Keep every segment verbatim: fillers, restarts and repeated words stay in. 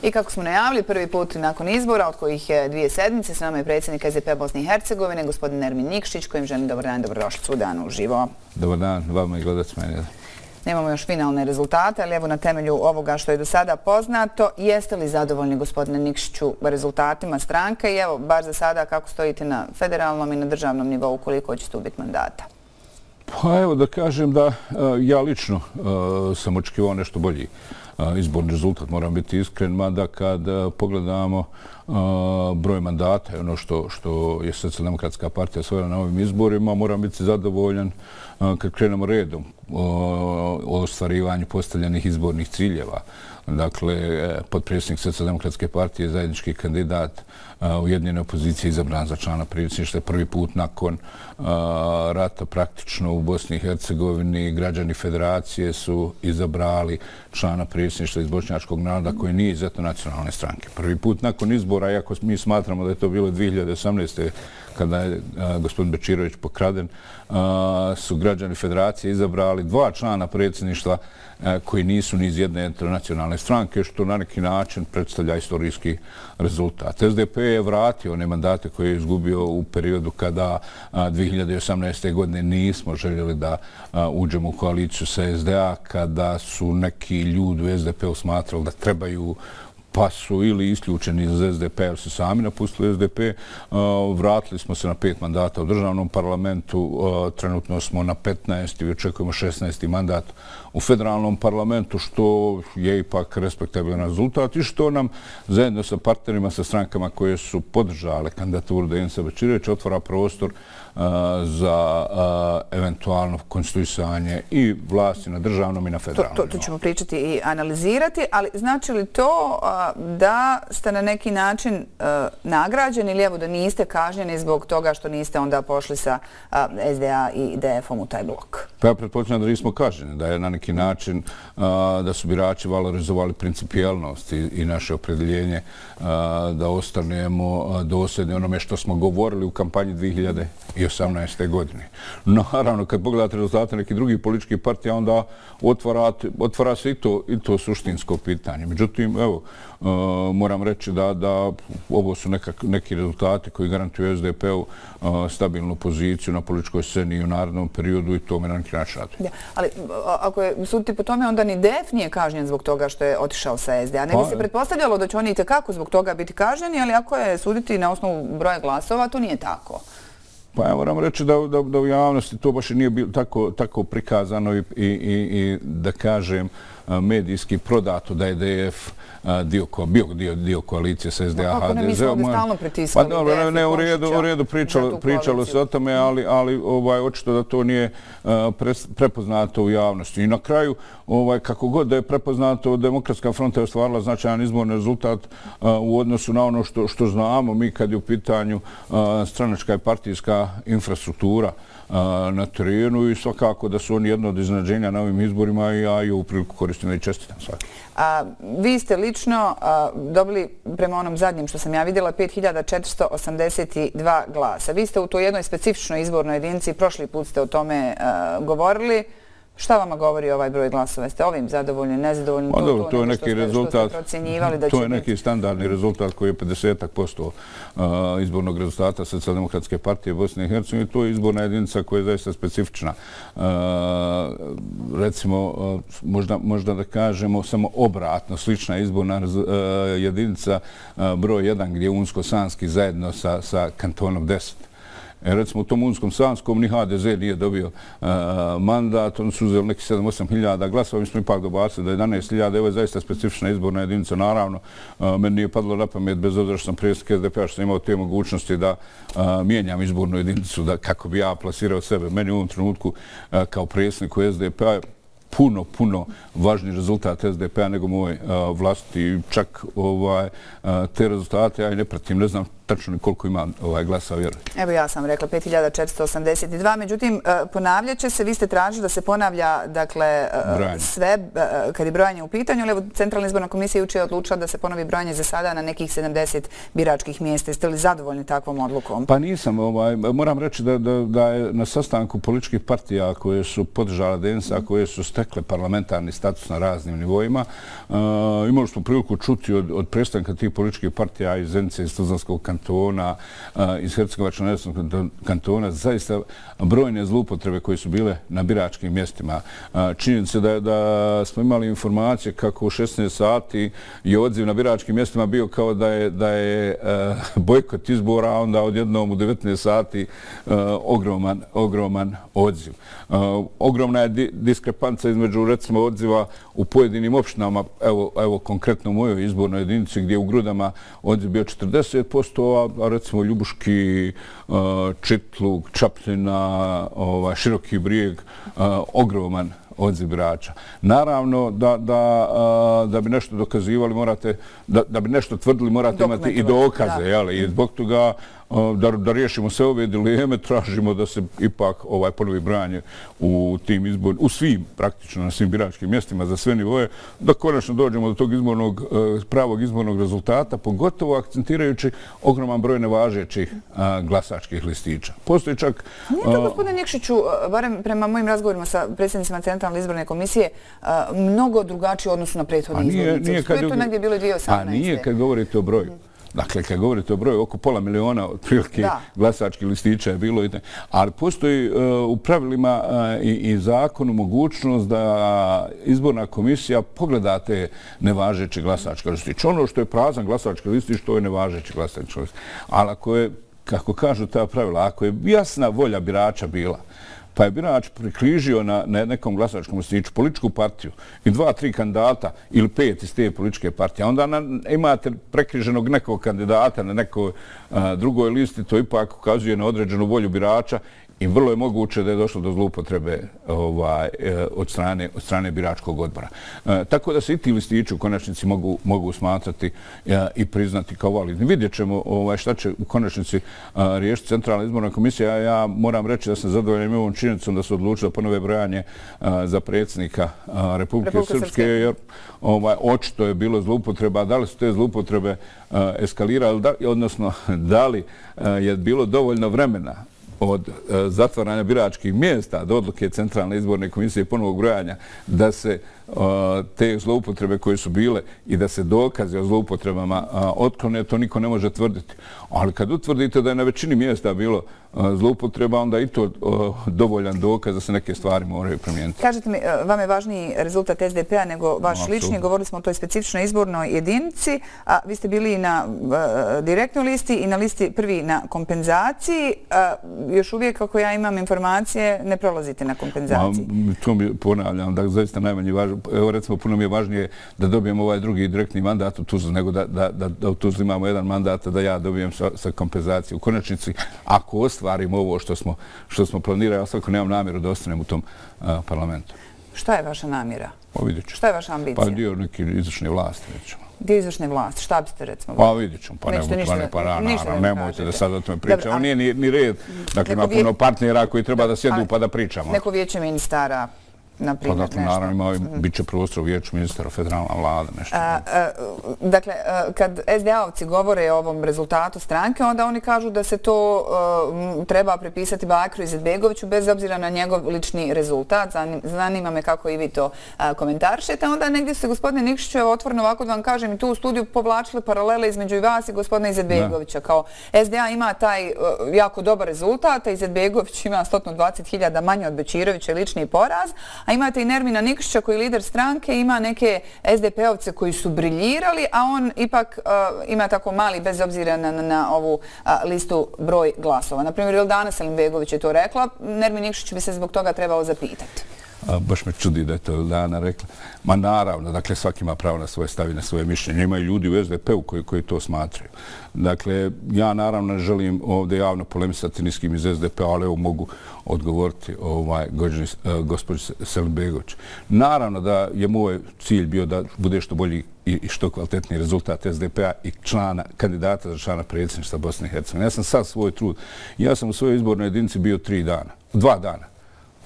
I kako smo najavili, prvi put nakon izbora, od kojih je dvije sedmice, s nama je predsjednik S D P-a Bosne i Hercegovine, gospodin Ermin Nikšić, kojim želim dobar dan i dobrodošlicu u Danu uživo. Dobar dan, vama i gledacima. Nemamo još finalne rezultate, ali evo na temelju ovoga što je do sada poznato, jeste li zadovoljni, gospodine Nikšiću, rezultatima stranke i evo, bar za sada, kako stojite na federalnom i na državnom nivou, koliko će tu biti mandata? Pa evo da kažem da ja lično sam očekivao nešto bolji izborni rezultat, moram biti iskren, mada kad pogledamo broj mandata i ono što, što je Socijaldemokratska partija osvojila na ovim izborima, moram biti zadovoljan kad krenemo redom o ostvarivanju postavljenih izbornih ciljeva. Dakle, potpredsjednik Socijaldemokratske partije, zajednički kandidat ujedinjene opozicije izabran za člana predsjedništva prvi put nakon rata praktično u Bosni i Hercegovini. Građani federacije su izabrali člana predsjedništva iz bošnjačkog naroda koji nije iz etnonacionalne stranke. Prvi put nakon izbora, iako mi smatramo da je to bilo dvije hiljade osamnaeste. kada je gospodin Bečirović pokraden, su građani federacije izabrali dva člana predsjedništva koji nisu ni iz jedne internacionalne stranke, što na neki način predstavlja istorijski rezultat. S D P je vratio one mandate koje je izgubio u periodu kada dvije hiljade osamnaeste. godine nismo željeli da uđemo u koaliciju sa S D A, kada su neki ljudi u S D P-u smatrali da trebaju pa su ili isključeni iz S D P, jer su sami napustili S D P. Vratili smo se na pet mandata u državnom parlamentu, trenutno smo na petnaest i očekujemo šesnaesti mandat u federalnom parlamentu, što je ipak respektabilan rezultat i što nam zajedno sa partnerima, sa strankama koje su podržale kandidaturu Denisa Bečirovića otvara prostor za eventualno konstituisanje i vlasti na državnom i na federalnom nivou. To ćemo pričati i analizirati, ali znači li to da ste na neki način nagrađeni ili evo da niste kažnjeni zbog toga što niste onda pošli sa S D A i D F-om u taj blok? Pa ja pretpostavljam da nismo kažnjeni, da je na neki način da su birači valorizovali principijelnost i naše opredjeljenje da ostanemo dosljedni onome što smo govorili u kampanji dvije hiljade osamnaeste. godine. Naravno, kad pogledate rezultate nekih drugih političkih partija, onda otvara se i to, i to suštinsko pitanje. Međutim, evo, moram reći da, da ovo su nekak, neki rezultati koji garantuju S D P-u stabilnu poziciju na političkoj sceni i u narednom periodu i to me na neki način raduje. Da, ali ako je suditi po tome, onda ni D F nije kažnjen zbog toga što je otišao sa S D A. Ne bi se pretpostavljalo da će oni itekako zbog toga biti kažnjeni, ali ako je suditi na osnovu broja glasova, to nije tako. Pa ja moram reći da, da, da u javnosti to baš nije bilo tako, tako prikazano i, i, i da kažem medijski prodato da je D F dio, bio dio, dio koalicije sa S D A H D Z. Kako ne, mi smo ovdje stalno pritiskali pa, dobro, D F ne, i u redu, u redu pričalo, pričalo se o tome, ali, ali ovaj, očito da to nije pre, prepoznato u javnosti. I na kraju, ovaj, kako god da je prepoznato, Demokratska fronta je ostvarila značajan izborni rezultat u odnosu na ono što, što znamo mi kad je u pitanju stranačka i partijska infrastruktura na terenu i svakako da su oni jedno od iznenađenja na ovim izborima i ja i ovu priliku koristim da i čestitam svaki. A, vi ste lično a, dobili, prema onom zadnjem što sam ja vidjela, pet hiljada četiristo osamdeset dva glasa. Vi ste u toj jednoj specifičnoj izbornoj jedinici, prošli put ste o tome a, govorili. Šta vama govori ovaj broj glasova? Ste ovim zadovoljni, nezadovoljni? Pa dobro, to je neki rezultat, to je neki standardni rezultat koji je pedeset posto izbornog rezultata Socijaldemokratske partije Bosne i Hercegovine. To je izborna jedinica koja je zaista specifična. Recimo, možda, možda da kažemo samo obratno, slična izborna jedinica broj jedan gdje je Unsko-Sanski zajedno sa, sa kantonom deset. E, recimo u tom Unskom-Sanskom ni H D Z nije dobio uh, mandat, oni su uzeli neki sedam osam hiljada glasova, mi smo ipak dobacili da je jedanaest hiljada, ovo je zaista specifična izborna jedinica, naravno, uh, meni nije padlo na pamet, bez obzira što sam predsjednik S D P-a, što sam imao te mogućnosti da uh, mijenjam izbornu jedinicu, da, kako bi ja plasirao sebe. Meni u ovom trenutku uh, kao predsjedniku S D P-a puno, puno važniji rezultat S D P-a nego moj uh, vlastiti. Čak ovaj, uh, te rezultate ja i ne pratim, ne znam tačno koliko ima ovaj glasa, vjerujem. Evo ja sam rekla pet hiljada četiristo osamdeset dva, međutim ponavljat će se, vi ste tražili da se ponavlja dakle sve kad je brojanje u pitanju, ali evo Centralna izborna komisija jučer je odlučila da se ponovi brojanje za sada na nekih sedamdeset biračkih mjesta. Jeste li zadovoljni takvom odlukom? Pa nisam, ovaj, moram reći da, da, da je na sastanku političkih partija koje su podržale D N S A, koje su stekle parlamentarni status na raznim nivoima, uh, imali smo priliku čuti od, od predstavnika tih političkih partija iz Zenice, iz Tuzlanskog kantona, uh, iz Hercegovačko-neretvanskog kantona, zaista brojne zloupotrebe koje su bile na biračkim mjestima. Uh, činjenica da, da smo imali informacije kako u šesnaest sati je odziv na biračkim mjestima bio kao da je, da je uh, bojkot izbora, a onda odjednom u devetnaest sati uh, ogroman, ogroman odziv. Uh, ogromna je di diskrepanca između recimo odziva u pojedinim opštinama, evo, evo konkretno u mojoj izbornoj jedinici gdje je u Grudama odziv bio četrdeset posto, a recimo Ljubuški, uh, Čitluk, Čapljina, ovaj, Široki Brijeg, uh, ogroman odziv birača. Naravno, da, da, da bi nešto dokazivali, morate, da, da bi nešto tvrdili, morate imati i dokaze. Jeli? I zbog toga da, da riješimo sve ove dileme, tražimo da se ipak ovaj ponovi brojanje u tim izbor, u svim, praktično na svim biračkim mjestima za sve nivoje, da konačno dođemo do tog izbornog, pravog izbornog rezultata, pogotovo akcentirajući ogroman broj nevažećih glasačkih listića. Postoji čak... Nije to, gospodine Nikšiću, barem prema mojim razgovorima sa predsjednicima Centralne izborne komisije, mnogo drugačiji odnosu na prethodne izbornice. To je to negdje bilo dvije hiljade osamnaeste. A nije kad govorite o broju. Dakle, kad govorite o broju, oko pola miliona otprilike glasačkih listića je bilo. Ali postoji u pravilima i zakonu mogućnost da izborna komisija pogleda te nevažeće glasačke listiće. Ono što je prazan glasački listić, to je nevažeći glasački listić. Ali ako je, kako kažu ta pravila, ako je jasna volja birača bila, pa je birač prikrižio na, na nekom glasačkom listiću političku partiju i dva, tri kandidata ili pet iz te političke partije, onda na, imate prekriženog nekog kandidata na nekoj a, drugoj listi, to ipak ukazuje na određenu volju birača i vrlo je moguće da je došlo do zloupotrebe ovaj, od, strane, od strane biračkog odbora. E, tako da se i ti listići u konačnici mogu, mogu smatrati e, i priznati kao validni. Vidjet ćemo ovaj, šta će u konačnici a, riješiti Centralna izborna komisija. Ja, ja moram reći da sam zadovoljan ovom činjenicom da su odlučili da ponove brojanje a, za predsjednika a, Republike Republika Srpske, Srpske, jer ovaj, očito je bilo zloupotreba. Da li su te zloupotrebe a, eskalirali, da, odnosno da li a, je bilo dovoljno vremena od uh, zatvaranja biračkih mjesta do odluke Centralne izborne komisije i ponovog brojanja da se uh, te zloupotrebe koje su bile i da se dokaze o zloupotrebama uh, otklone, to niko ne može tvrditi. Ali kad utvrdite da je na većini mjesta bilo uh, zloupotreba, onda i to uh, dovoljan dokaz da se neke stvari moraju promijeniti. Kažete mi, uh, vam je važniji rezultat S D P-a nego vaš no, lični, govorili smo o toj specifičnoj izbornoj jedinici, a vi ste bili na uh, direktnoj listi i na listi prvi na kompenzaciji. Uh, još uvijek, kako ja imam informacije, ne prolazite na kompenzaciji. Ma, to mi ponavljam, da zaista najmanje važno. Evo recimo, puno mi je važnije da dobijem ovaj drugi direktni mandat u Tuzli, nego da, da, da, da u Tuzli imamo jedan mandat, da ja dobijem sa, sa kompenzacijom. U konačnici, ako ostvarimo ovo što smo, što smo planirali, ja svako nemam namjeru da ostanem u tom uh, parlamentu. Šta je vaša namjera? Pa vidjet ću. Šta je vaša ambicija? Pa dio neke izvršne vlasti, vidjet ćemo. Dio izvršne vlasti, šta biste recimo? Pa vidjet ćemo, pa nemojte nemojte da sad o tome pričamo. Nije ni, ni red, dakle ima puno partnera koji treba da sjedu pa da pričamo. Neko vijeće ministara, na primjer, pa dakle, naravno ima, bit će prostor u vijeću ministara, federalna vlada, nešto. A, a, dakle, a, kad S D A-ovci govore o ovom rezultatu stranke, onda oni kažu da se to a, treba prepisati Bakru Izetbegoviću bez obzira na njegov lični rezultat. Zanima me kako i vi to a, komentaršete. Onda negdje se, gospodine Nikšiću, evo otvoreno ovako da vam kažem, i tu u studiju povlačili paralele između i vas i gospodina Izetbegovića. Kao S D A ima taj a, jako dobar rezultat, a Izetbegović ima sto dvadeset hiljada manje od Bećirovića, lični poraz. A imate i Nermina Nikšića koji je lider stranke, ima neke S D P-ovce koji su briljirali, a on ipak uh, ima tako mali, bez obzira na, na, na ovu uh, listu, broj glasova. Naprimjer, Ildana Selimbegović je to rekla, Nermin Nikšić bi se zbog toga trebao zapitati. baš me čudi da je to Dana rekla. Ma naravno, dakle, svaki ima pravo na svoje stavi, na svoje mišljenje. Imaju ljudi u S D P-u koji, koji to smatraju. Dakle, ja naravno ne želim ovdje javno polemisati ni s kim iz S D P-a, ali evo mogu odgovoriti ovaj, gospođi Selimbegović. Naravno da je moj cilj bio da bude što bolji i što kvalitetniji rezultat S D P-a i člana, kandidata za člana predsjedništva Bosne i Hercegovine. Ja sam sad svoj trud. Ja sam u svojoj izbornoj jedinici bio tri dana, dva dana,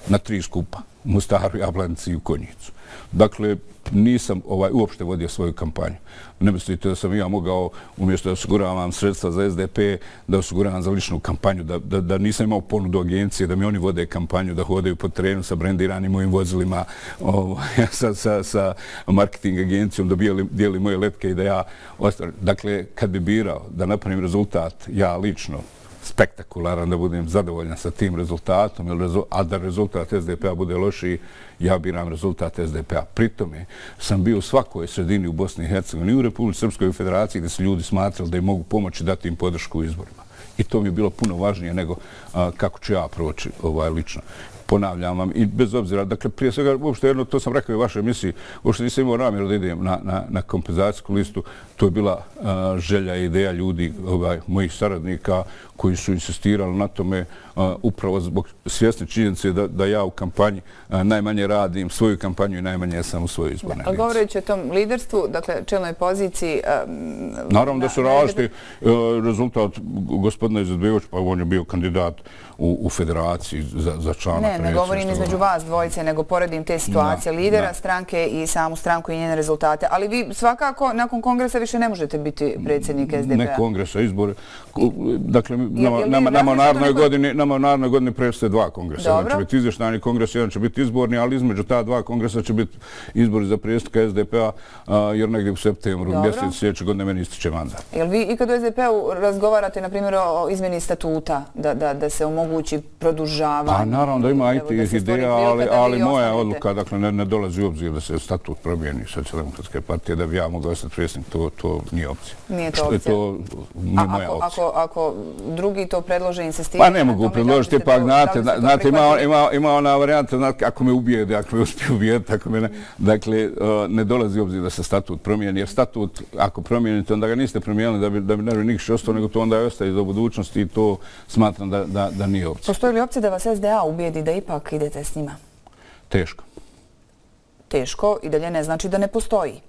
na tri skupa, u Mostaru, Jablanici i u Konjicu. Dakle, nisam ovaj, uopšte vodio svoju kampanju. Ne mislite da sam ja mogao, umjesto da osiguravam sredstva za S D P, da osiguravam za ličnu kampanju, da, da, da nisam imao ponudu agencije, da mi oni vode kampanju, da hodaju po terenu sa brendiranim mojim vozilima, ovaj, sa, sa, sa marketing agencijom, da bijeli, dijeli moje letke i da ja ostavim. Dakle, kad bi birao da napravim rezultat, ja lično, spektakularan, da budem zadovoljan sa tim rezultatom, a da rezultat S D P-a bude lošiji, ja biram rezultat S D P-a. Pritome sam bio u svakoj sredini u Bosni i Hercegovini i u Republici Srpskoj federaciji gdje su ljudi smatrali da im mogu pomoći dati im podršku u izborima. I to mi je bilo puno važnije nego a, kako ću ja proći ovaj, lično. Ponavljam vam i bez obzira, dakle prije svega uopšte jedno, to sam rekao i u vašoj emisiji, uopšte nisam imao namjeru da idem na, na, na kompenzacijsku listu, to je bila a, želja i ideja ljudi, ovaj, mojih saradnika koji su insistirali na tome a, upravo zbog svjesne činjenice da, da ja u kampanji a, najmanje radim svoju kampanju i najmanje sam u svojoj izbornoj jedinici. Govoreći o tom liderstvu, dakle čelnoj poziciji... A, Naravno da su različiti rezultat gospodina Izetbegovića, pa on je bio kandidat u, u federaciji za, za člana predsjedništva. Ne, ne govorim između vas dvojice, nego poredim te situacije da, lidera da. stranke i samu stranku i njene rezultate. Ali vi svakako nakon kongresa više ne možete biti predsjednik S D P-a. Ne kongresa, izbor. Dakle, nama, nama, nama u narednoj godini, nama u narednoj godini predstoje dva kongresa. Jedan će biti izvještajni kongres, jedan će biti izborni, ali između ta dva kongresa će biti izbori za predsjednika S D P-a, jer negdje u septembru mjesec sljedeće godine meni ističe mandat. Jel vi i kad u S D P-u razgovarate, na primjer, o izmjeni statuta, da, da, da se omogući produžavanje? Pa naravno da ima i tih ideja, ali, ali moja odluka, dakle, ne, ne dolazi u obzir da se statut promijeni Socijaldemokratske partije, da bi ja mogao ostati predsjednik, to, to nije opcija. Nije to opcija? To nije moja ako, opcija. Ako, ako drugi to predlože, insistiraju... Pa ne mogu predložiti, pa znate, znate ima, ima, ima ona varijanta, znate, ako me ubijede, ako me uspije ubijeti, ako me ne... Dakle, ne dolazi u obzir da se statut promijeni, jer statut, ako promijenite, onda ga niste promijenili da bi, da bi ne bi nikše ostao, nego to onda ostaje do budućnosti i to smatram da, da, da nije opcija. Postoji li opcija da vas S D A ubijedi da ipak idete s njima? Teško. Teško i dalje ne znači da ne postoji.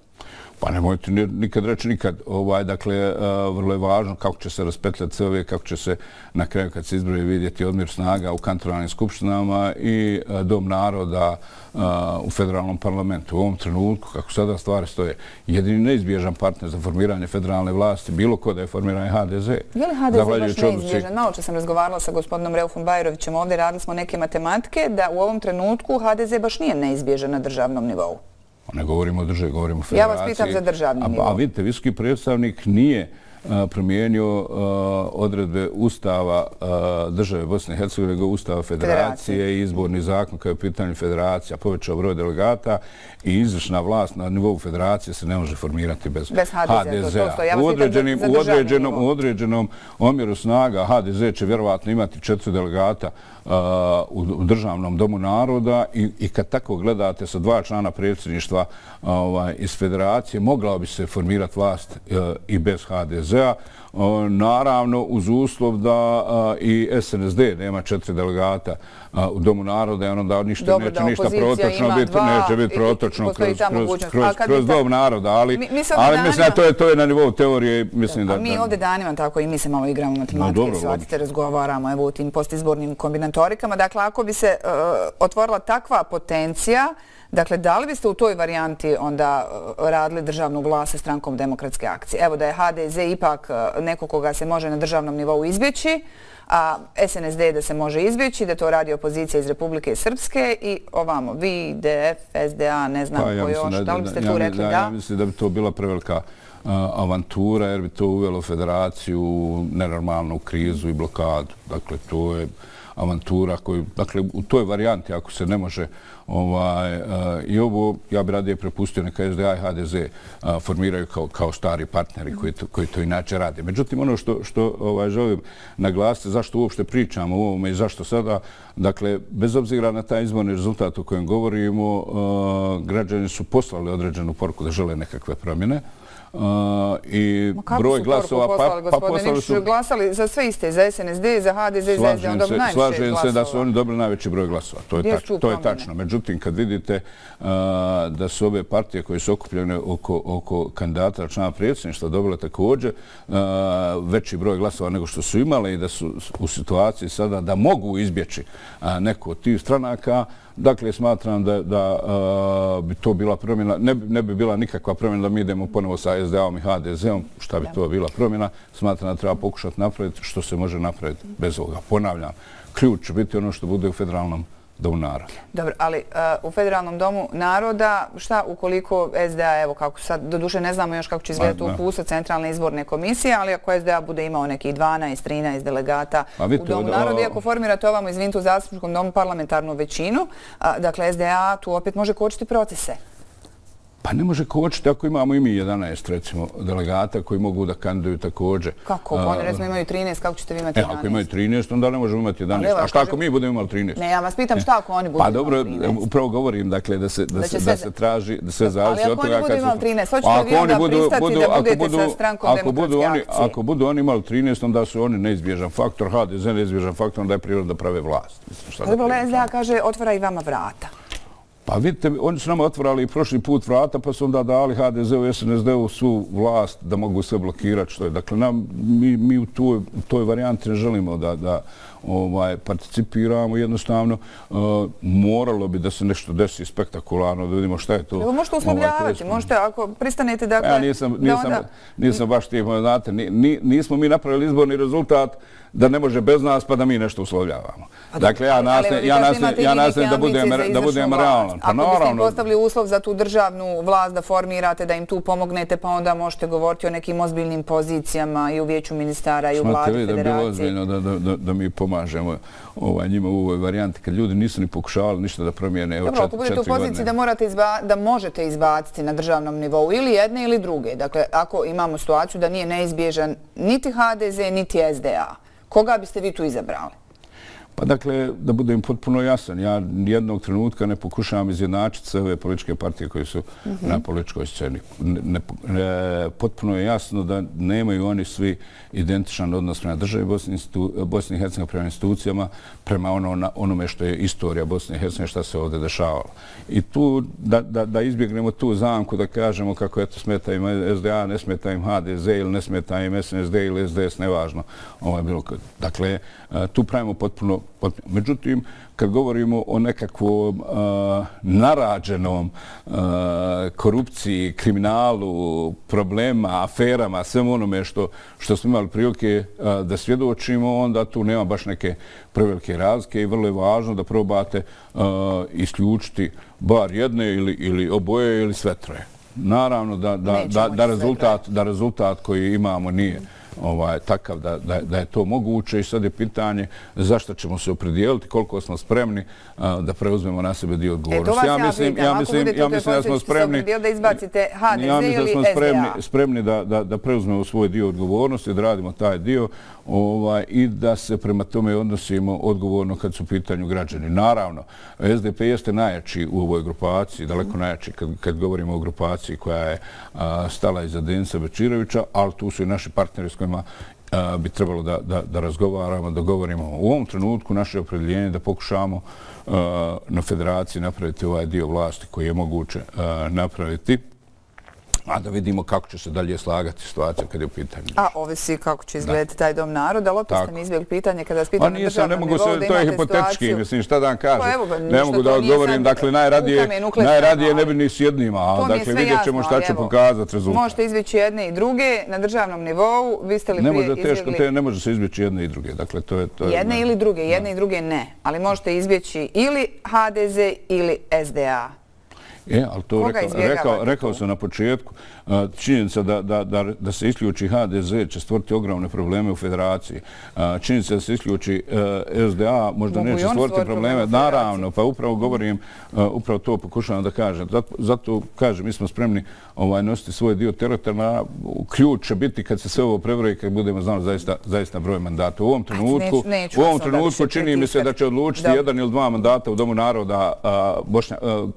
Pa nemojte nikad reći nikad. Ovaj, dakle, vrlo je važno kako će se raspetljati sve ove, kako će se na kraju kad se izbroje vidjeti odmjer snaga u kantonalnim skupštinama i Dom naroda u federalnom parlamentu. U ovom trenutku, kako sada stvari stoje, jedini neizbježan partner za formiranje federalne vlasti, bilo ko da je formiranje H D Z. Je li H D Z baš neizbježan? Malo čas sam razgovarala sa gospodinom Reufom Bajrovićem ovdje, radili smo neke matematike, da u ovom trenutku H D Z baš nije neizbježan na državnom nivou. Ne govorimo o državi, govorimo o federaciji. Ja vas pitam za državni nivo. A, a vidite, visoki predstavnik nije a, promijenio a, odredbe Ustava a, države Bosne i Hercegovine, nego Ustava federacije i izborni zakon kao je pitanje federacija, povećao broj delegata i izvršna vlast na nivou federacije se ne može formirati bez, bez H D Z-a. Ja u, određenim, u, određenom, u određenom omjeru snaga H D Z će vjerovatno imati četiri delegata Uh, u državnom domu naroda i, i kad tako gledate sa dva člana predsjedništva uh, ovaj, iz federacije, mogla bi se formirati vlast uh, i bez H D Z-a. Uh, naravno, uz uslov da uh, i S N S D nema četiri delegata uh, u domu naroda, ono da ništa, Dobro, neće da ništa protočno biti, neće biti protočno kroz, kroz, kroz, kroz dom naroda, ali, mi, mi ali danima, mislim da to je, to je na nivou teorije. Mislim da, a mi da, ovdje danima tako i mi se malo igramo matematike, no, shvatite, razgovaramo evo, u tim postizbornim kombinatorikama. Dakle, ako bi se uh, otvorila takva potencija, dakle, da li biste u toj varijanti onda uh, radili državnu vlast sa strankom Demokratske akcije? Evo da je H D Z ipak uh, neko koga se može na državnom nivou izbjeći, a S N S D da se može izbjeći, da to radi opozicija iz Republike Srpske i ovamo, vi, D F, S D A, ne znam pa, ja ko još, da, da li biste ja, tu rekli da? da? Ja mislim da bi to bila prevelika uh, avantura, jer bi to uvelo federaciju nenormalnu krizu i blokadu. Dakle, to je avantura koju, dakle, u toj varijanti, ako se ne može I ovo, ja bi radije prepustio neka S D A i H D Z formiraju kao stari partneri koji to inače rade. Međutim, ono što želim naglasiti, zašto uopšte pričamo o ovome i zašto sada, dakle, bez obzira na taj izborni rezultat o kojem govorimo, građani su poslali određenu poruku da žele nekakve promjene. I broj glasova... Pa poslali su... Glasali za sve iste, za S N S D, za H D Z, za S D A, on dobili najviše glasova. Slažem se da su oni dobili najveći broj glasova. To je tačno. Međutim, kad vidite da su ove partije koje su okupljene oko kandidata člana predsjedništva dobile također veći broj glasova nego što su imale i da su u situaciji sada da mogu izbjeći neku od tih stranaka, dakle, smatram da bi to bila promjena, ne bi bila nikakva promjena da mi idemo ponovo sa S D A-om i H D Z-om, šta bi to bila promjena, smatram da treba pokušati napraviti što se može napraviti bez ovoga. Ponavljam, ključ će biti ono što bude u federalnom domu naroda. Dobro, ali u federalnom domu naroda, šta ukoliko S D A, evo kako sad, doduše ne znamo još kako će izgledati uputstvo Centralne izborne komisije, ali ako S D A bude imao nekih dvanaest trinaest delegata u domu naroda, i ako formirate ovamo, izvinite, u zastupničkom domu parlamentarnu većinu, dakle S D A tu opet može kočiti procese. Pa ne može kočiti ako imamo i mi jedanaest, recimo, delegata koji mogu da kandiduju također. Kako? Oni, recimo, imaju trinaest, kako ćete vi imati jedanaest? Ako imaju trinaest, onda ne možemo imati jedanaest. A šta ako mi budemo imali trinaest? Ne, ja vas pitam šta ako oni budu imali trinaest? Pa dobro, upravo govorim, dakle, da se traži, da sve zavisi od toga... Ali ako oni budu imali trinaest, hoćete li vi onda pristati da budete sa strankom demokratske akcije? Ako budu oni imali trinaest, onda su oni neizbježan faktor, H D Z neizbježan faktor, onda je priroda da prave vlast. Dobro, S D A kaže, otvara i vama vrata. Pa vidite, oni su nama otvorali i prošli put vrata, pa su onda dali H D Z-u i S N S D-u svu vlast da mogu sve blokirati. Što je. Dakle, mi u toj varijanti ne želimo da participiramo. Jednostavno, moralo bi da se nešto desi spektakularno, da vidimo šta je to. Evo, možete uslovljavati, možete, ako pristanete da... Ja nisam baš tih, znate, nismo mi napravili izborni rezultat da ne može bez nas, pa da mi nešto uslovljavamo. Dakle, ja nastavim da budem realan. Ako biste im postavili uslov za tu državnu vlast da formirate, da im tu pomognete, pa onda možete govoriti o nekim ozbiljnim pozicijama i u vijeću ministara i u vladi federacije. Smate vi da je bilo ozbiljno da mi pomažemo njima u ovoj varijanti, kad ljudi nisu ni pokušavali ništa da promijene. Dobro, ako budete u poziciji da možete izbaciti na državnom nivou ili jedne ili druge, dakle, ako imamo situaciju da nije neizbježan niti H D Z, niti S D A, koga biste vi tu izabrali? Pa dakle, da budem potpuno jasan, ja jednog trenutka ne pokušavam izjednačiti sve ove političke partije koje su na političkoj sceni. Potpuno je jasno da nemaju oni svi identičan odnos prema državi Bosne i Hercegovine, prema institucijama, prema onome što je istorija Bosne i Hercegovine, šta se ovdje dešavalo. I tu, da izbjegnemo tu zamku, da kažemo kako eto smeta im S D A, ne smeta im H D Z ili ne smeta im S N S D ili S D S, nevažno. Dakle, tu pravimo potpuno. Međutim, kad govorimo o nekakvom narađenom korupciji, kriminalu, problema, aferama, svemu onome što smo imali prilike da svjedočimo, onda tu nema baš neke prevelike razlike i vrlo je važno da probate isključiti bar jedne ili oboje ili sve troje. Naravno da rezultat koji imamo nije takav da je to moguće i sad je pitanje zašto ćemo se opredijeliti, koliko smo spremni da preuzmemo na sebe dio odgovornosti. Ja mislim, ja mislim da smo spremni da izbacite H D Z ili S D A. Spremni da preuzmemo svoj dio odgovornosti, da radimo taj dio i da se prema tome odnosimo odgovorno kad su u pitanju građani. Naravno, S D P jeste najjači u ovoj grupaciji, daleko najjači kad govorimo o grupaciji koja je stala iza Denisa Bečirovića, ali tu su i naši partneri s kojima bi trebalo da razgovaramo, da govorimo. U ovom trenutku naše opredjeljenje da pokušamo na federaciji napraviti ovaj dio vlasti koji je moguće napraviti, a da vidimo kako će se dalje slagati situacija kad je u pitanju. A ovisi kako će izgledati taj dom naroda, ali opet ste mi izbjegli pitanje kada vas pitam na državnom nivou da imate situaciju. To je hipotetički, mislim, šta da vam kažem. Ne mogu da odgovorim, dakle, najradije ne bi ni s jednima, a dakle, vidjet ćemo šta će pokazati rezultat. Možete izbjeći jedne i druge na državnom nivou, vi ste li prije izbjegli... Ne može se izbjeći jedne i druge, dakle, to je... Jedne ili druge, jedne i druge ne, ali možete izbjeći ili H D Z ili S D A. E, ali to rekao sam na početku. Činjenica da se isključi H D Z će stvoriti ogromne probleme u federaciji. Činjenica da se isključi S D A možda neće stvoriti probleme. Naravno, pa upravo govorim, upravo to pokušavam da kažem. Zato kažem, mi smo spremni nositi svoj dio tereta. Ključ će biti kad se sve ovo prebroji, kad budemo znali zaista broj mandata. U ovom trenutku, u ovom trenutku čini mi se da će odlučiti jedan ili dva mandata u Domu naroda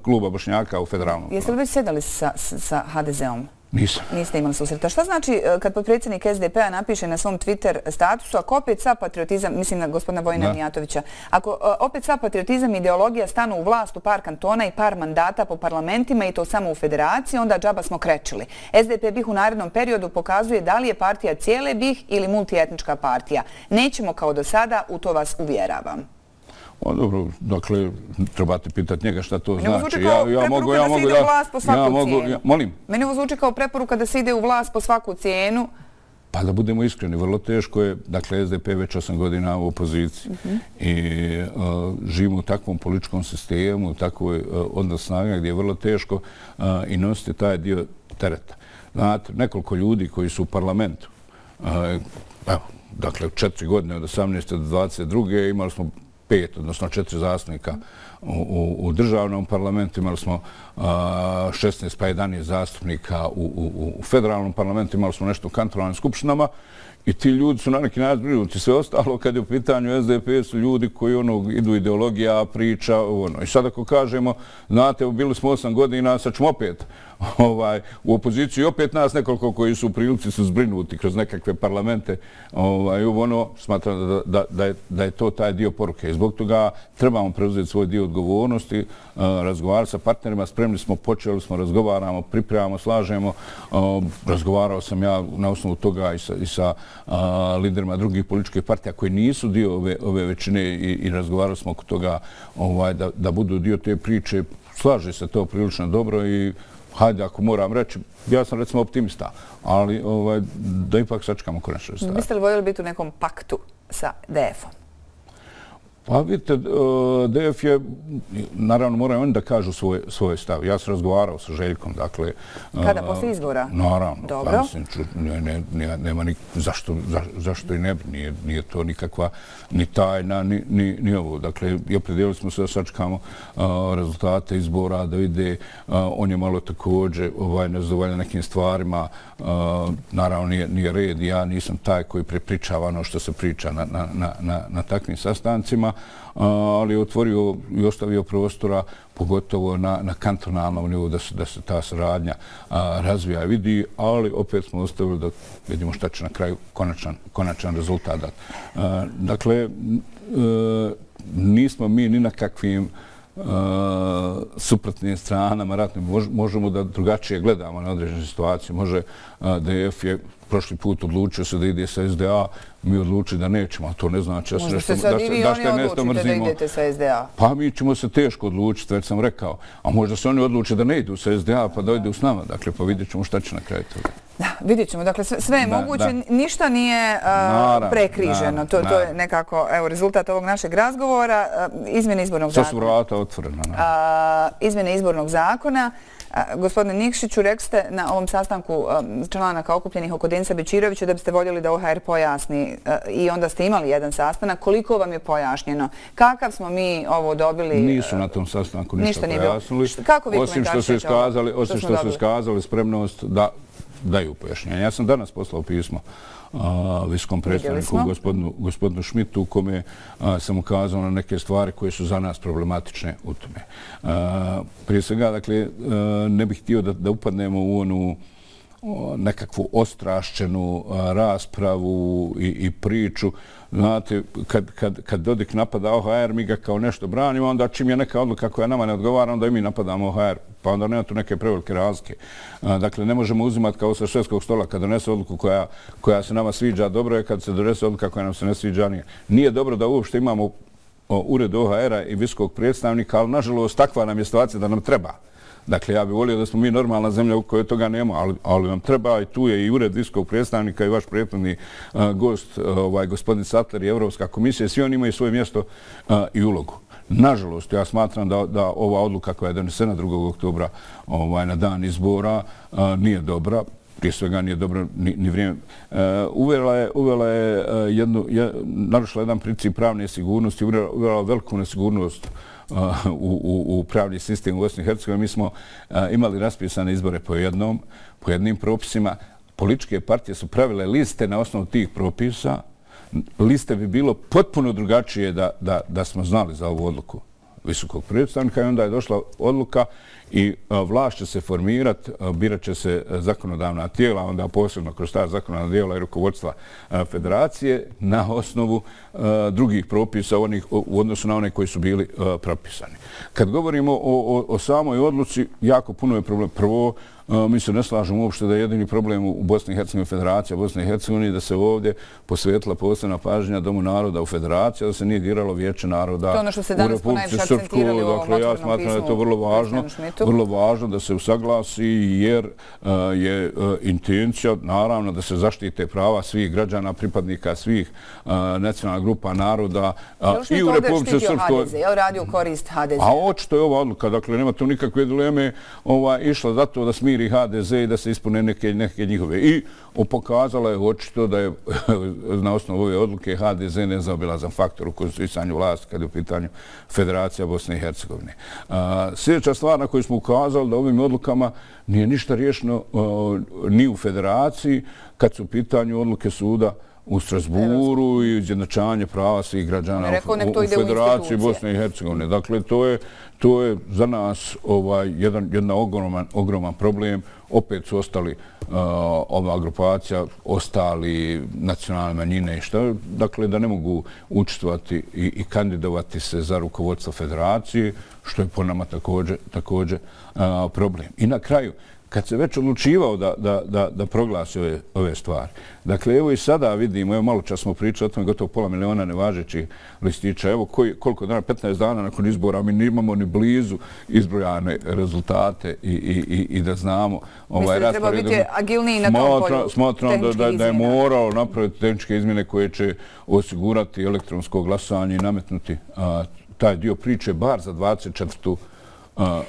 kluba Bošnjaka u federalnom. Jeste li već sedali sa H D Z-om? Nisam. Niste imali susreta. Šta znači kad potpredsjednik S D P-a napiše na svom Twitter statusu, ako opet sa patriotizam, mislim na gospodina Vojina Mijatovića, ako opet sa patriotizam i ideologija stanu u vlast u par kantona i par mandata po parlamentima i to samo u federaciji, onda džaba smo krečili. S D P BiH u narednom periodu pokazuje da li je partija cijele BiH ili multietnička partija. Nećemo kao do sada, u to vas uvjeravam. Dobro, dakle, trebate pitati njega šta to znači. Meni ovo zvuči kao preporuka da se ide u vlast po svaku cijenu. Molim? Meni ovo zvuči kao preporuka da se ide u vlast po svaku cijenu. Pa da budemo iskreni, vrlo teško je. Dakle, S D P već osam godina u opoziciji i živimo u takvom političkom sistemu, u takvoj odnos snaga gdje je vrlo teško i nositi taj dio tereta. Znate, nekoliko ljudi koji su u parlamentu, evo, dakle, u četiri godine od osamnaeste do dvadeset druge imali smo pet, odnosno četiri zastupnika u državnom parlamentu, imali smo šesnaest pa jedanaest zastupnika u federalnom parlamentu, imali smo nešto u kantonalnim skupštinama i ti ljudi su na neki način zbrinuti. Sve ostalo kad je u pitanju S D P su ljudi koji idu ideologija, priča, i sad ako kažemo, znate, bili smo osam godina, sad ćemo opet u opoziciji, opet nas nekoliko koji su u prilici su zbrinuti kroz nekakve parlamente. Smatram da je to taj dio poruke. Zbog toga trebamo preuzeti svoj dio odgovornosti, razgovarati sa partnerima, spremni smo, počeli smo, razgovaramo, pripremamo, slažemo. Razgovarao sam ja na osnovu toga i sa liderima drugih političkih partija koji nisu dio ove većine i razgovarali smo oko toga da budu dio te priče. Slaže se to prilično dobro i hajde, ako moram reći, ja sam recimo optimista, ali da ipak sačekamo konačne stvari. Biste li voljeli biti u nekom paktu sa D F-om? Pa vidite, D F je, naravno moraju oni da kažu svoj stav. Ja sam razgovarao sa Željkom, dakle... Kada, posle izbora? Naravno. Dobro. Nema ni, zašto i ne bi, nije to nikakva ni tajna, ni ovo. Dakle, i opredijelili smo se da sačekamo rezultate izbora, da vide, on je malo također nezadovoljan nekim stvarima. Naravno, nije red, ja nisam taj koji prepričava ono što se priča na takvim sastancima, ali je otvorio i ostavio prostora, pogotovo na kantonalnom nivou, da se ta saradnja razvija i vidi, ali opet smo ostavili da vidimo šta će na kraju konačan rezultat dati. Dakle, nismo mi ni na kakvim suprotnim stranama ratnim. Možemo da drugačije gledamo na određene situacije. Može D F je prošli put odlučio se da ide sa S D A, mi odlučili da nećemo, a to ne znači da ste sad i vi oni odlučite da idete sa S D A. Pa mi ćemo se teško odlučiti, već sam rekao. A možda se oni odluče da ne idu sa S D A pa da idu s nama. Dakle, pa vidjet ćemo šta će na kraju toga. Da, vidjet ćemo. Dakle, sve je moguće, ništa nije prekriženo. To je nekako rezultat ovog našeg razgovora. Izmjene izbornog zakona. Sad su vrata otvorena. Izmjene izbornog zakona. Gospodine Nikšiću, rekli ste na ovom sastanku članaka okupljenih oko Denisa Bečirovića da biste voljeli da O H R pojasni i onda ste imali jedan sastanak. Koliko vam je pojašnjeno? Kakav smo mi ovo dobili? Nisu na tom sastanku ništa pojasnili. Kako vi komentaršite ovo? Osim što su iskazali spremnost da daju pojašnjenje. Ja sam danas poslao pismo visokom predstavniku gospodinu Šmitu u kome sam ukazao na neke stvari koje su za nas problematične u tome. Prije svega, dakle, ne bih htio da upadnemo u onu nekakvu ostrašćenu raspravu i priču. Znate, kad Dodik napada O H R, mi ga kao nešto branimo, onda čim je neka odluka koja nama ne odgovara, onda i mi napadamo O H R. Pa onda nema tu neke prevelike razlike. Dakle, ne možemo uzimati kao sa švedskog stola kad donese odluku koja se nama sviđa, dobro je kad se donese odluka koja nam se ne sviđa, nije. Nije dobro da uopšte imamo ured O H R-a i visokog predstavnika, ali nažalost takva nam je situacija da nam treba. Dakle, ja bih volio da smo mi normalna zemlja u kojoj toga nema, ali nam treba i tu je i ured visokog predstavnika i vaš prethodni gost, gospodin Sattler i Evropska komisija, svi oni imaju svoje mjesto i ulogu. Nažalost, ja smatram da, da ova odluka koja je donesena drugog oktobra ovaj, na dan izbora a, nije dobra. Prije svega nije dobro ni, ni vrijeme. E, uvela je, uvela je jednu, je, narušila jedan princip pravne sigurnosti, uvela, uvela veliku nesigurnost uh, u, u, u pravni sistem u Bosni i Hercegovini. Mi smo uh, imali raspisane izbore po jednom, po jednim propisima. Političke partije su pravile liste na osnovu tih propisa. Liste bi bilo potpuno drugačije da, da, da smo znali za ovu odluku visokog predstavnika i onda je došla odluka i vlast će se formirati, birat će se zakonodavna tijela, onda posebno kroz ta zakonodavna tijela i rukovodstva federacije na osnovu drugih propisa onih, u odnosu na one koji su bili propisani. Kad govorimo o, o, o samoj odluci, jako puno je problem. Prvo, mi se ne slažemo uopšte da je jedini problem u Bosni i Hercegovini federacija Bosne i Hercegovine, da se ovdje posvetila posebna pažnja Domu naroda u federaciji, da se nije diralo Vijeće naroda ono što se danas ponajviše akcentirali u ovom dakle, ja smatram da je to vrlo važno, vrlo važno da se usaglasi jer uh, je uh, intencija naravno da se zaštite prava svih građana, pripadnika svih uh, nacionalnih grupa naroda uh, i u Republici Srpskoj. Je li radio korist ha de ze? A očito je ova odluka, dakle nema tu nikakve dileme, ova, išla zato da smiri ha de ze i da se ispune neke, neke njihove. I pokazala je očito da je na osnovu ove odluke ha de ze nezaobilazan faktor u konstituisanju vlasti kad je u pitanju Federacija Bosne i Hercegovine. A, sljedeća stvar na koju smo ukazali da ovim odlukama nije ništa riješeno a, ni u Federaciji kad su u pitanju odluke suda u Strasburu i izjednačavanje prava svih građana rekao, u, u Federaciji Bosne i Hercegovine. Dakle, to je, to je za nas ovaj, jedan, jedan ogroman, ogroman problem. Opet su ostali uh, ova grupacija, ostali nacionalne manjine i šta. Dakle, da ne mogu učestvovati i, i kandidovati se za rukovodstvo Federacije, što je po nama također, također uh, problem. I na kraju, kad se već odlučivao da, da, da, da proglasi ove, ove stvari. Dakle, evo i sada vidimo, evo malo čas smo pričali o tome, gotovo pola miliona nevažećih listića. Evo koji, koliko dana, petnaest dana nakon izbora, mi nimamo ni blizu izbrojane rezultate i, i, i, i da znamo ovaj raspored. Mislim da treba biti agilniji na tom polju. Smatram da, da, da je morao napraviti tehničke izmjene koje će osigurati elektronsko glasanje i nametnuti a, taj dio priče bar za dvadeset četvrtu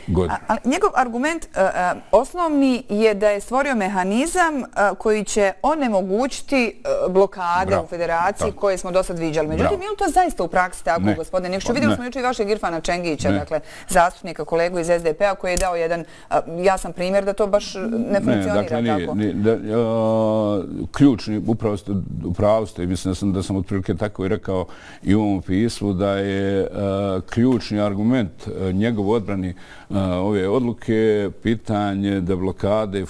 godinu. Ali njegov argument uh, osnovni je da je stvorio mehanizam uh, koji će onemogućiti uh, blokade Bravo. u federaciji Bravo. koje smo do sad viđali. Međutim, je li to zaista u praksi tako, ne. gospodine Nikšiću? Vidjeli smo jučer i vašeg Irfana Čengića, ne. dakle, zastupnika, kolegu iz es de pe a koji je dao jedan uh, jasan primjer da to baš ne funkcionira ne, dakle, tako. Nije, da, uh, ključni, upravo ste, upravo ste, mislim da sam, da sam otprilike tako i rekao i u ovom pismu, da je uh, ključni argument uh, njegov odbrani ove odluke, pitanje deblokade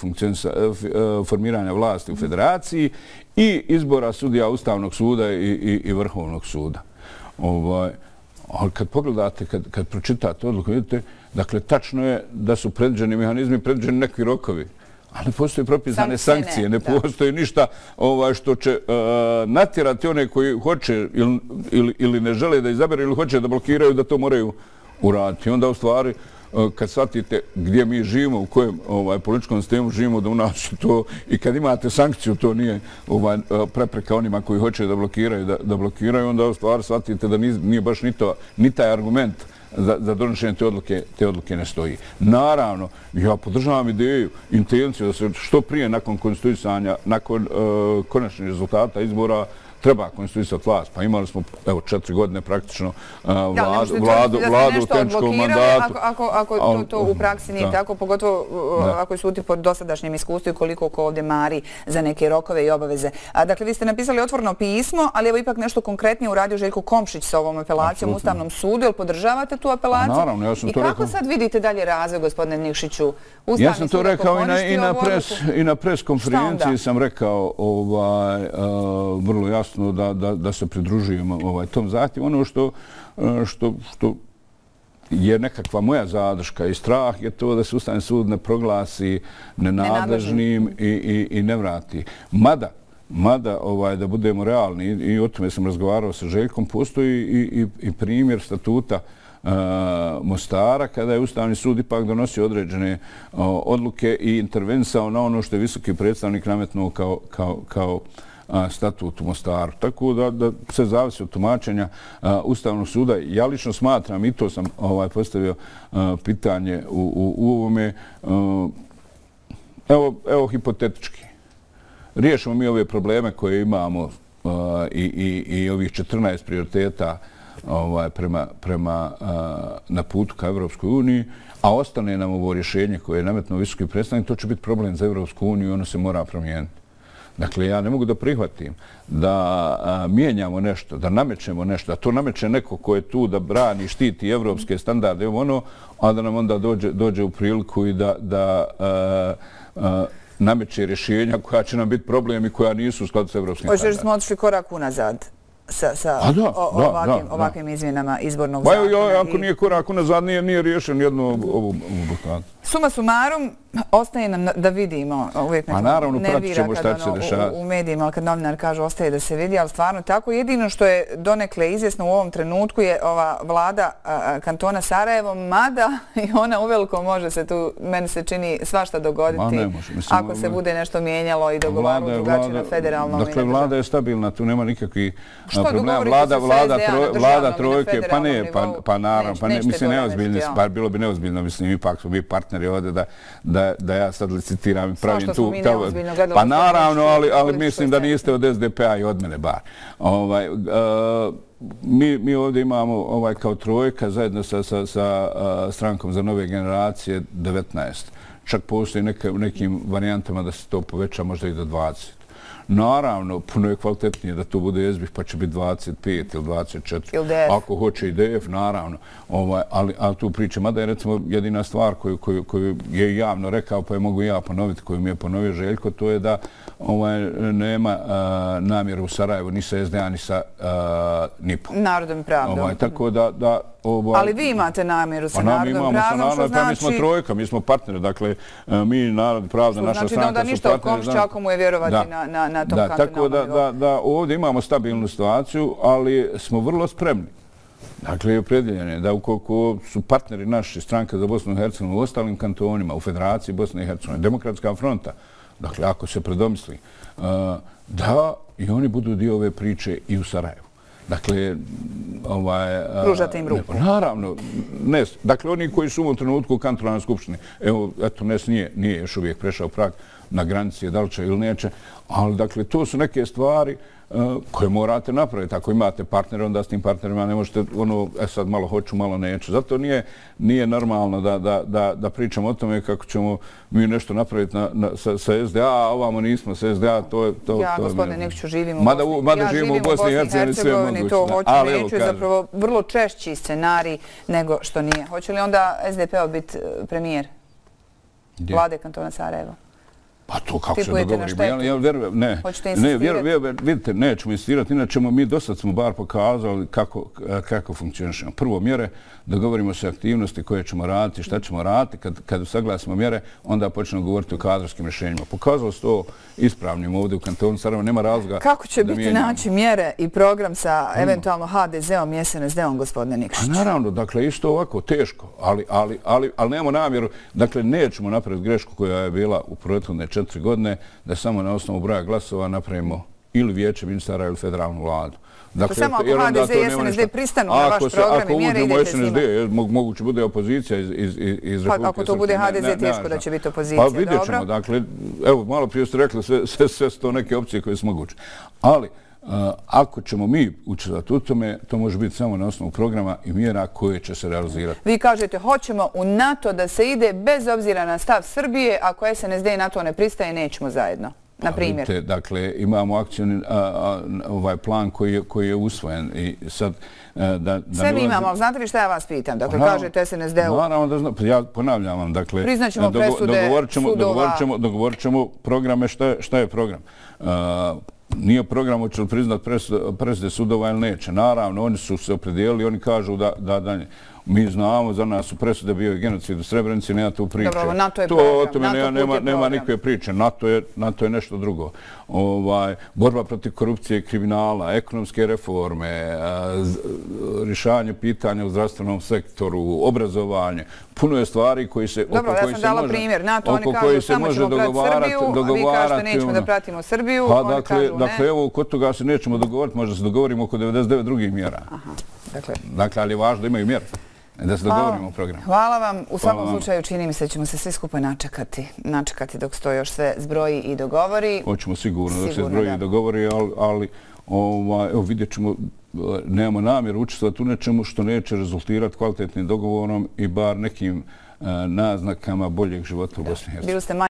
formiranja vlasti u Federaciji i izbora sudija Ustavnog suda i, i, i Vrhovnog suda. Ovaj, ali kad pogledate, kad, kad pročitate odluku, vidite, dakle, tačno je da su predviđeni mehanizmi, predviđeni nekvi rokovi. Ali ne postoje propisane sankcije, sankcije ne, ne postoji ništa ovaj, što će uh, natjerati one koji hoće ili, ili, ili ne žele da izaberu ili hoće da blokiraju, da to moraju uraditi. Onda u stvari, kad shvatite gdje mi živimo, u kojem ovaj, političkom sistemu živimo, da u nas to, i kad imate sankciju, to nije ovaj, prepreka onima koji hoće da blokiraju, da, da blokiraju, onda u stvari shvatite da nije, nije baš ni, to, ni taj argument za, za donošenje te odluke, te odluke ne stoji. Naravno, ja podržavam ideju, intenciju da se što prije nakon konstituisanja, nakon uh, konačnih rezultata izbora, treba konstituisati vlast. Pa imali smo, evo, četiri godine praktično uh, vladu, ja, vladu, vladu u tenčkom mandatu. Ako, ako, ako to, to u praksi nije da. tako, pogotovo da. ako su uti po dosadašnjem iskustvu i koliko ko ovdje mari za neke rokove i obaveze. A, dakle, vi ste napisali otvoreno pismo, ali evo ipak nešto konkretnije uradio Željko Komšić sa ovom apelacijom u Ustavnom sudu. Jel podržavate tu apelaciju? A, naravno, ja sam I to kako rekao. sad vidite dalje razvoj, gospodine Nikšiću? Ustavni ja sam to rekao i na, i na, pres, i na pres konferenciji sam rekao ovaj, uh, vrlo jasno Da, da, da se pridružujemo ovaj, tom zahtjevu. Ono što, što, što je nekakva moja zadrška i strah je to da se Ustavni sud ne proglasi nenadležnim i, i, i ne vrati. Mada, mada ovaj, da budemo realni, i o tome sam razgovarao sa Željkom, postoji i, i, i primjer statuta Uh, Mostara, kada je Ustavni sud ipak donosio određene uh, odluke i intervenisao na ono što je visoki predstavnik nametnuo kao, kao, kao statut u Mostaru. Tako da, da se zavisi od tumačenja Ustavnog suda. Ja lično smatram, i to sam ovaj, postavio pitanje u, u, u ovome, evo, evo hipotetički. Riješimo mi ove probleme koje imamo i, i, i ovih četrnaest prioriteta ovaj, prema, prema, na putu ka Evropskoj uniji, a ostane nam ovo rješenje koje je nametnuo visoki predstavnik, to će biti problem za Evropsku uniju i ono se mora promijeniti. Dakle, ja ne mogu da prihvatim da a, mijenjamo nešto, da namećemo nešto, a to nameće neko ko je tu da brani, štiti evropske standarde, ono, a da nam onda dođe, dođe u priliku i da, da a, a, nameće rješenja koja će nam biti problem i koja nisu u skladu s evropskim standardima. Hoćeš da smo otišli korak unazad sa, sa da, o, da, ovakvim, da, ovakvim izmjenama izbornog ba, zakona? Jo, ako i... nije korak unazad, nije, nije riješen jednu ovu blokadu. Suma sumarum, ostaje nam da vidimo, uvijek neko naravno, nervira kad ono, u, u medijima, ali kad novinar kaže ostaje da se vidi, ali stvarno tako. Jedino što je donekle izvjesno u ovom trenutku je ova vlada a, kantona Sarajevo, mada i ona uveliko može se tu, meni se čini, svašta dogoditi. Ne može. Mislim, ako se bude nešto mijenjalo i dogovaralo drugačije na federalnom. Dakle, vlada je stabilna, tu nema nikakvih problema. Vlada, vlada, troj, vlada trojke, pa ne, pa, pa naravno, pa ne, mislim, neozbiljno, pa bilo bi neozbiljno, mislim, ipak smo mi partneri ovdje da, da, da ja sad licitiram i pravim tu... Pa naravno, ali, ali mislim da niste od S D P-a i od mene bar. Ovaj, uh, mi, mi ovdje imamo ovaj, kao trojka zajedno sa, sa, sa uh, strankom za nove generacije devetnaest. Čak postoji neke, u nekim varijantama da se to poveća možda i do dvadeset. Naravno, puno je kvalitetnije da to bude S B I F pa će biti dvadeset pet ili dvadeset četiri. Ili D F. Ako hoće i D F, naravno. Ovaj, ali, ali tu pričam, mada je recimo jedina stvar koju, koju, koju je javno rekao, pa je mogu ja ponoviti, koju mi je ponovio Željko, to je da ovaj, nema uh, namjeru u Sarajevu ni sa S D A ni sa uh, N I P-om. Narodom i pravdom. Ovaj, tako da, da Ovaj, ali vi imate namjeru sa narodom pravdom, što znači... Mi smo trojka, mi smo partneri, dakle, mi narod pravda, naša stranka su partneri. Znači da ništa o Komšćaku mu je vjerovati da, na, na, na tom da, kantonalnom nivou. Tako da, da, da ovdje imamo stabilnu situaciju, ali smo vrlo spremni. Dakle, opredjeljeni da ukoliko su partneri naši stranka za Bosnu i Hercegovinu u ostalim kantonima, u Federaciji Bosne i Hercegovine, Demokratska fronta, dakle, ako se predomisli, da i oni budu dio ove priče i u Sarajevu. Dakle, ovaj... Pružate im ruku. Ne, naravno, N E S. Dakle, oni koji su u trenutku u kantonalnoj skupštini, evo, eto, N E S nije, nije još uvijek prešao prag na granici, da li će ili neće, ali, dakle, to su neke stvari uh, koje morate napraviti. Ako imate partnere, onda s tim partnerima ne možete, ono, e sad malo hoću, malo neću. Zato nije, nije normalno da, da, da, da pričamo o tome kako ćemo mi nešto napraviti na, na, sa, sa S D A, a ovamo nismo sa S D A, to je... To, ja, to gospodine Nikšiću, živim u mada, Bosni, mada ja živimo u Bosni i Hercegovini, sve je moguće. To hoću, ali, neću, je zapravo vrlo češći scenarij nego što nije. Hoće li onda S D P-ov biti premijer Gdje? Vlade kantona Sarajevo? Pa to kako se dogovorimo. Ja, ja vjerujem, ne. Hoćete ne, vjerujem, vjerujem, vidite, nećemo insistirati, inače mi do sad smo bar pokazali kako, kako funkcionišemo. Prvo mjere, dogovorimo se aktivnosti koje ćemo raditi, šta ćemo raditi. Kad, kad saglasimo mjere, onda počnemo govoriti o kadrovskim rješenjima. Pokazalo se to ispravnim ovdje u kantonu Sarajevo, nema razloga. Kako će biti naći mjere i program sa eventualno H D Z-om i S N S D-om, gospodine Nikšić? A naravno, dakle, isto ovako, teško, ali, ali, ali, ali nemamo namjeru, dakle, nećemo napraviti grešku koja je bila u prethodne četiri godine, da samo na osnovu broja glasova napravimo ili vijeće ministara ili federalnu vladu. Dakle, samo ako H D Z i S N S D pristanu na vaš program i mjere idete s njima. Ako uđemo S N S D, moguće bude opozicija iz, iz, iz Republike Srpske. Ako to bude H D Z, teško da će biti opozicija. Pa vidjet ćemo, dakle, evo, malo prije ste rekli, sve, sve, sve su to neke opcije koje su moguće. Ali, Uh, ako ćemo mi učestvati u tome, to može biti samo na osnovu programa i mjera koje će se realizirati. Vi kažete, hoćemo u NATO da se ide bez obzira na stav Srbije, ako S N S D i NATO ne pristaje, nećemo zajedno. Na primjer. Vidite, dakle, imamo akcijni ovaj plan koji je, koji je usvojen i sad... Da, da sve mi imamo, ali znate li šta ja vas pitam? Dakle, no, kažete S N S D-u... Naravno da znam, ja ponavljam vam, dakle... Priznaćemo presude dogovorit ćemo, sudova... Dogovorit ćemo, dogovorit ćemo programe, šta je, šta je program. Uh, nije program hoće li priznat presude sudova ili neće. Naravno, oni su se opredijelili, oni kažu da, da, da Mi znamo, za nas su presude bio i genocid u Srebrenici, nema tu priče. Dobro, NATO je to, program. O tome NATO nema, nema, nema program. nikakve priče. NATO je, NATO je nešto drugo. Ovaj, borba protiv korupcije i kriminala, ekonomske reforme, rješavanje pitanja u zdravstvenom sektoru, obrazovanje. Puno je stvari koji se... Dobro, ja sam dala primjer. NATO, oni kažu samo ćemo pratiti Srbiju, a vi kažete nećemo da pratimo Srbiju, oni kažu ne. Dakle, evo, kod toga se nećemo dogovoriti, možda se dogovorimo oko devedeset devet drugih mjera. Dakle, ali je važno da imaju mjere. Da se dogovorimo o programu. Hvala vam. U svakom slučaju čini mi se da ćemo se svi skupa načekati. Načekati dok se to još sve zbroji i dogovori. Hoćemo sigurno dok se zbroji i dogovori, ali evo vidjet ćemo, nemamo namjeru učestvati u nečemu što neće rezultirati kvalitetnim dogovorom i bar nekim naznakama boljeg života u Bosni i Hercegovini.